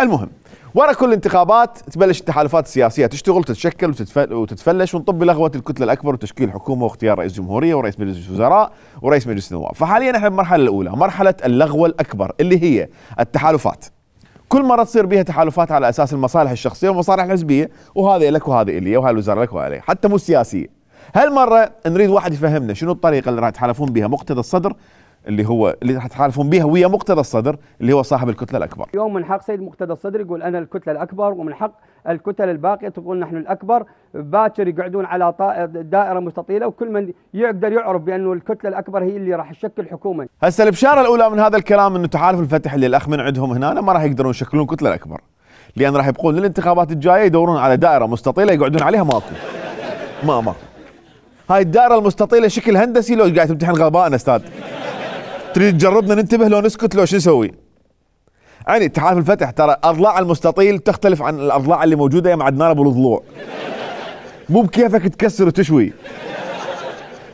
المهم ورا كل الانتخابات تبلش التحالفات السياسيه تشتغل وتتشكل وتتفلش ونطب بلغوه الكتله الاكبر وتشكيل حكومه واختيار رئيس جمهوريه ورئيس مجلس وزراء ورئيس مجلس نواب. فحاليا احنا بالمرحله الاولى، مرحله اللغوه الاكبر اللي هي التحالفات. كل مره تصير بها تحالفات على اساس المصالح الشخصيه والمصالح الحزبيه، وهذا لك وهذا الي وهاي الوزاره لك وهذا لي، حتى مو سياسيه. هالمره نريد واحد يفهمنا شنو الطريقه اللي راح يتحالفون بها مقتدى الصدر اللي راح يتحالفون بها ويا مقتدى الصدر اللي هو صاحب الكتله الاكبر. اليوم من حق سيد مقتدى الصدر يقول انا الكتله الاكبر، ومن حق الكتل الباقيه تقول نحن الاكبر. باكر يقعدون على دائره مستطيله وكل من يقدر يعرف بانه الكتله الاكبر هي اللي راح تشكل حكومه. هسه البشاره الاولى من هذا الكلام انه تحالف الفتح اللي الاخ من عندهم هنا ما راح يقدرون يشكلون الكتله الاكبر، لان راح يبقون للانتخابات الجايه يدورون على دائره مستطيله يقعدون عليها ماكو. هاي الدائره المستطيله شكل هندسي لو قاعد تمتحن غباءنا استاذ. تريد تجربنا ننتبه لو نسكت لو شو نسوي؟ يعني تحالف الفتح ترى اضلاع المستطيل تختلف عن الاضلاع اللي موجوده يا معدنانه بالضلوع. مو بكيفك تكسر وتشوي.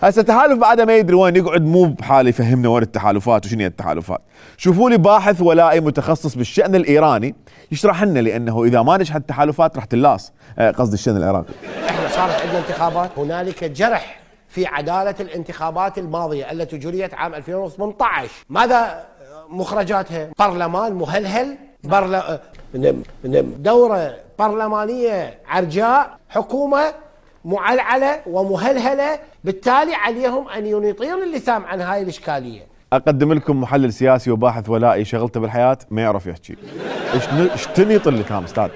هسه تحالف بعده ما يدري وين يقعد، مو بحال يفهمنا وين التحالفات وشنو هي التحالفات. شوفوا لي باحث ولائي متخصص بالشأن الايراني يشرح لنا، لانه اذا ما نجحت التحالفات راح تلاص، قصدي الشأن العراقي. احنا صارت عندنا انتخابات، هنالك جرح في عدالة الانتخابات الماضية التي جريت عام 2018. ماذا مخرجاتها؟ برلمان مهلهل، دورة برلمانية عرجاء، حكومة معلعلة ومهلهلة، بالتالي عليهم أن يطيروا اللثام عن هاي الإشكالية. أقدم لكم محلل سياسي وباحث ولائي شغلته بالحياة ما يعرف يحكي. ايش تنيط اللثام استاذ؟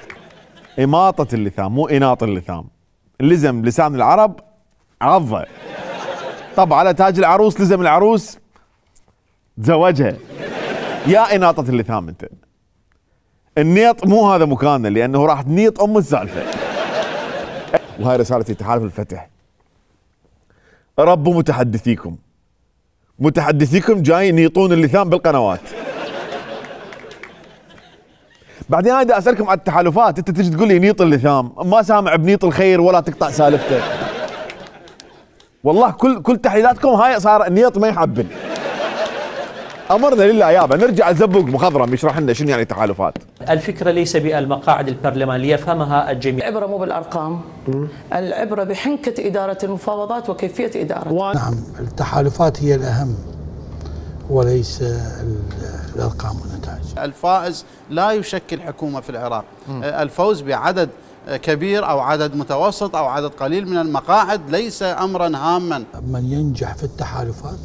إماطة اللثام مو إناط اللثام. لزم لسان العرب عضة. طب على تاج العروس لزم العروس تزوجها. يا إناطة اللثام أنت. النيط مو هذا مكانه، لأنه راح تنيط أم السالفة. وهاي رسالتي تحالف الفتح. ربوا متحدثيكم جاي ينيطون اللثام بالقنوات. بعدين انا اسالكم على التحالفات، انت تجي تقول لي نيط اللثام، ما سامع بنيط الخير ولا تقطع سالفته. والله كل تحليلاتكم هاي صار النيط ما يحبن. امرنا لله يابا نرجع الزبوق مخضرم يشرح لنا شنو يعني تحالفات. الفكره ليس بالمقاعد البرلمانيه يفهمها الجميع. العبره مو بالارقام، العبره بحنكه اداره المفاوضات وكيفيه ادارتها. نعم التحالفات هي الاهم وليس الارقام والنتائج. الفائز لا يشكل حكومه في العراق، الفوز بعدد كبير او عدد متوسط او عدد قليل من المقاعد ليس امرا هاما. من ينجح في التحالفات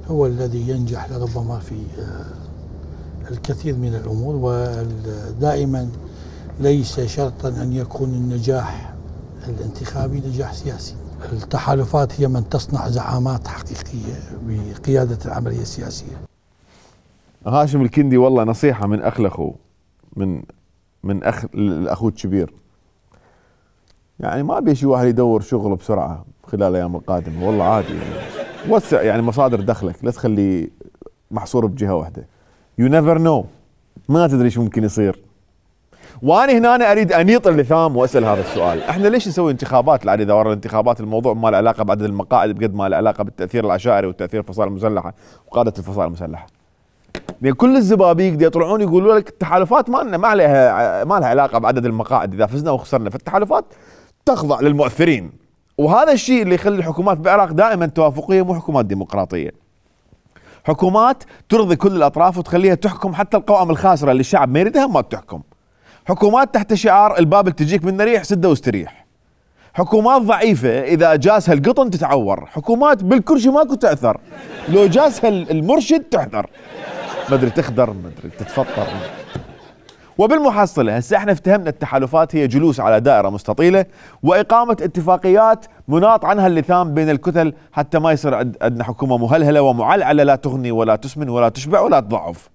هو الذي ينجح لربما في الكثير من الأمور، ودائما ليس شرطا أن يكون النجاح الانتخابي نجاح سياسي. التحالفات هي من تصنع زعامات حقيقية بقيادة العملية السياسية. هاشم الكندي والله نصيحة من أخ لأخوه، من أخ لأخوه الكبير. يعني ما بيشي واحد يدور شغل بسرعة خلال الأيام القادمة، والله عادي يعني. وسع يعني مصادر دخلك، لا تخليه محصور بجهه واحده. يو نيفر نو، ما تدري شو ممكن يصير. وانا هنا أنا اريد انيط اللثام واسال هذا السؤال، احنا ليش نسوي انتخابات؟ لان اذا ورا الانتخابات الموضوع ما له علاقه بعدد المقاعد بقد ما له علاقه بالتاثير العشائري وتاثير الفصائل المسلحه وقاده الفصائل المسلحه. لان كل الزبابيك دي يطلعون يقولوا لك التحالفات ما لها علاقه بعدد المقاعد، اذا فزنا وخسرنا، فالتحالفات تخضع للمؤثرين. وهذا الشيء اللي يخلي الحكومات بالعراق دائما توافقيه، مو حكومات ديمقراطيه. حكومات ترضي كل الاطراف وتخليها تحكم حتى القوائم الخاسره اللي الشعب ما يريدها ما تحكم. حكومات تحت شعار الباب اللي تجيك منه ريح سده واستريح. حكومات ضعيفه اذا جاسها القطن تتعور، حكومات بالكرشي ماكو تاثر، لو جاسها المرشد تحذر، ما ادري تخدر ما ادري تتفطر. وبالمحصله هسه احنا افتهمنا التحالفات هي جلوس على دائره مستطيله واقامه اتفاقيات مناط عنها اللثام بين الكتل حتى ما يصير عندنا حكومه مهلهله ومعلعله لا تغني ولا تسمن ولا تشبع ولا تضعف.